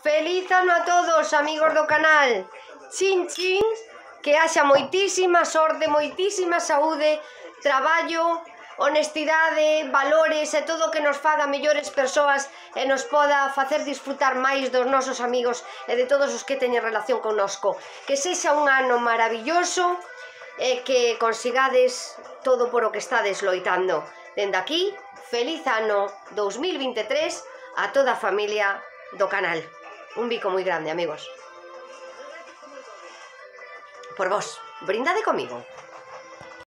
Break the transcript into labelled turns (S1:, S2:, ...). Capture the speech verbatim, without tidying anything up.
S1: Feliz ano a todos, amigos do canal. Chin chin, que haxa moitísima sorte, moitísima saúde, traballo, honestidade, valores e todo o que nos faga mellores persoas e nos poda facer disfrutar máis dos nosos amigos e de todos os que teñen relación connosco. Que sexa un ano maravilloso e que consigades todo por o que estades loitando. Dende aquí, feliz ano dous mil vinte e tres a toda a familia do canal. Un bico moi grande, amigos. Por vos, brindade comigo.